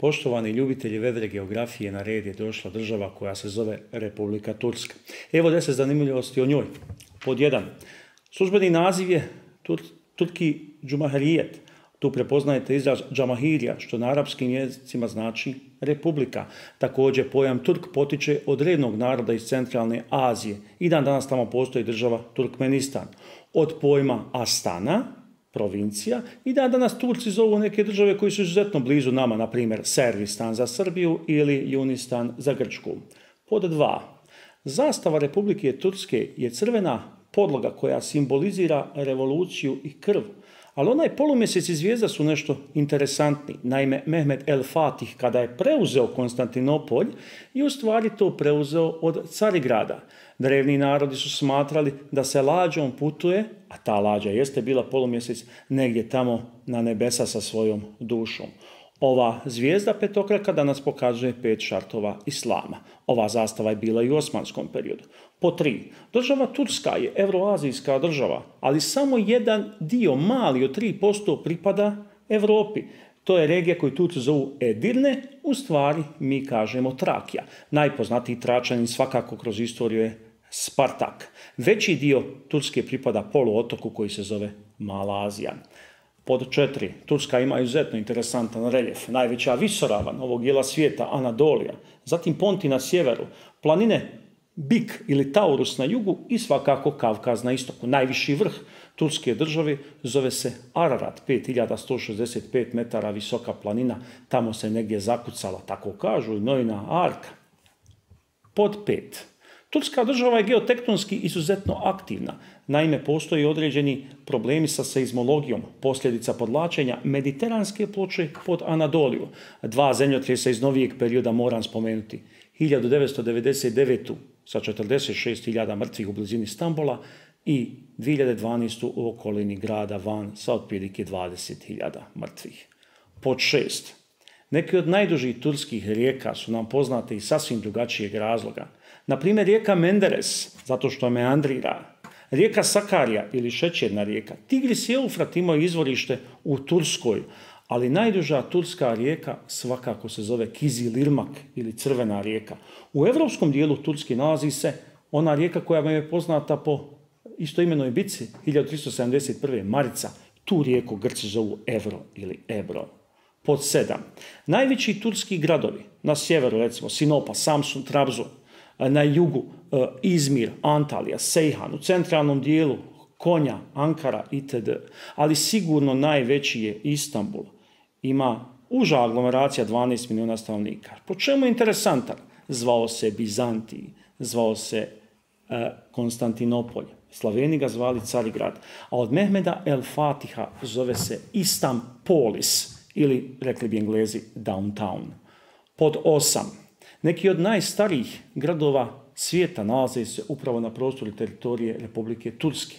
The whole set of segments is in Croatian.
Poštovani ljubitelji vedre geografije, na red je došla država koja se zove Republika Turska. Evo 10 zanimljivosti o njoj. Pod 1. Službeni naziv je Turki Džumahirijet. Tu prepoznajete izraz Džamahirija, što na arapskim jezicima znači republika. Također pojam Turk potiče od rednog naroda iz centralne Azije i dan danas tamo postoji država Turkmenistan. Od pojma Astana, provincija, i dan danas Turci zovu neke države koji su izuzetno blizu nama, na primjer Servistan za Srbiju ili Junistan za Grčku. Pod 2. Zastava Republike Turske je crvena podloga koja simbolizira revoluciju i krv. Ali onaj polumjesec i zvijezda su nešto interesantni. Naime, Mehmed el Fatih, kada je preuzeo Konstantinopolj, je u stvari to preuzeo od Carigrada. Drevni narodi su smatrali da se lađom putuje, a ta lađa jeste bila polumjesec, negdje tamo na nebesa sa svojom dušom. Ova zvijezda petokraka danas pokazuje 5 šartova islama. Ova zastava je bila i u osmanskom periodu. Po 3. Država Turska je evroazijska država, ali samo jedan dio, mali od 3%, pripada Europi. To je regija koju Turci zovu Edirne, u stvari mi kažemo Trakija. Najpoznatiji Tračanin svakako kroz istoriju je Spartak. Veći dio Turske pripada poluotoku koji se zove Mala Azija. Pod 4. Turska ima izuzetno interesantan reljef. Najveća visoravan ovog dijela svijeta, Anadolija. Zatim Ponti na sjeveru, planine Bik ili Taurus na jugu i svakako Kavkaz na istoku. Najviši vrh Turske države zove se Ararat, 5165 metara visoka planina. Tamo se negdje zakucala, tako kažu, i Noina arka. Pod 5. Turska država je geotektonski izuzetno aktivna. Naime, postoji određeni problemi sa seizmologijom, posljedica podlačenja mediteranske ploče pod Anadoliju. 2 zemljotresa iz novijeg perioda moram spomenuti. 1999. sa 46.000 mrtvih u blizini Stambola i 2012. u okolini grada Van sa otprilike 20.000 mrtvih. Pod 6. Neki od najdužih turskih rijeka su nam poznate iz sasvim drugačijeg razloga. Na primjer, rijeka Menderes, zato što meandrira. Rijeka Sakarija ili šećerna rijeka. Tigris i Eufrat imaju izvorište u Turskoj, ali najduža turska rijeka svakako se zove Kizilirmak ili crvena rijeka. U evropskom dijelu Turske nalazi se ona rijeka koja vam je poznata po istoimenoj bici 1371. Marica. Tu rijeku Grci zovu Evro ili Ebro. Pod 7. Najveći turski gradovi, na sjeveru recimo Sinopa, Samsun, Trabzon, na jugu Izmir, Antalija, Sejhan, u centralnom dijelu Konja, Ankara itd. Ali sigurno najveći je Istanbul. Ima uža aglomeracija 12 milijuna stanovnika. Po čemu je interesantan? Zvao se Bizantij, zvao se Konstantinopolj. Slaveni ga zvali Carigrad. A od Mehmeda el Fatiha zove se Istanpolis ili, rekli bi Englezi, downtown. Pod 8. Neki od najstarijih gradova svijeta nalaze se upravo na prostoru teritorije Republike Turske.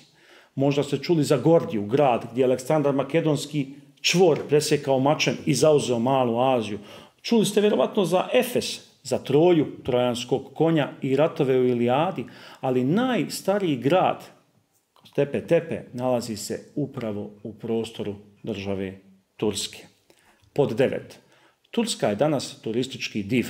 Možda ste čuli za Gordiju, grad gdje je Aleksandar Makedonski čvor presjekao mačem i zauzeo Malu Aziju. Čuli ste vjerovatno za Efes, za Troju, trojanskog konja i ratove u Ilijadi, ali najstariji grad, Tepe Tepe, nalazi se upravo u prostoru države Turske. Pod 9. Turska je danas turistički div.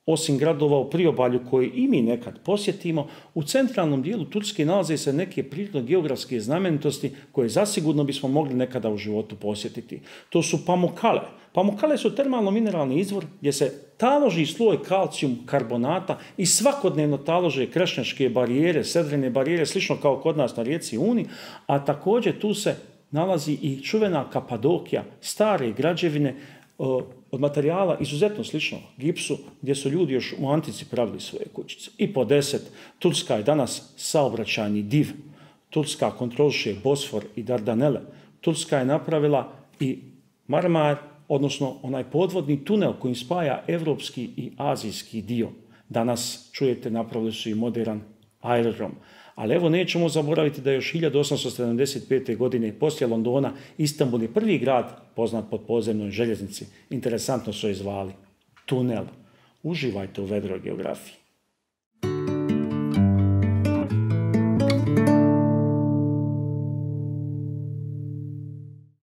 Osim gradova u priobalju koje i mi nekad posjetimo, u centralnom dijelu Turske nalaze se neke prirodno-geografske znamenitosti koje zasigurno bismo mogli nekada u životu posjetiti. To su Pamukkale. Pamukkale su termalno-mineralni izvor gdje se taloži sloj kalcijum karbonata i svakodnevno talože krešnjačke barijere, sedrene barijere, slično kao kod nas na rijeci Uni, a također tu se nalazi i čuvena Kapadokija, stare građevine od materijala izuzetno slično gipsu, gdje su ljudi još u antici pravili svoje kućice. I po 10. Turska je danas saobraćajni div. Turska kontroliše Bosfor i Dardanele. Turska je napravila i Marmar, odnosno onaj podvodni tunel kojim spaja evropski i azijski dio. Danas, čujete, napravili su i modern aerodrom. Ali evo, nećemo zaboraviti da još 1875. godine poslije Londona Istanbul je prvi grad poznat pod podzemnoj željeznici. Interesantno su je zvali tunel. Uživajte u vedroj geografiji.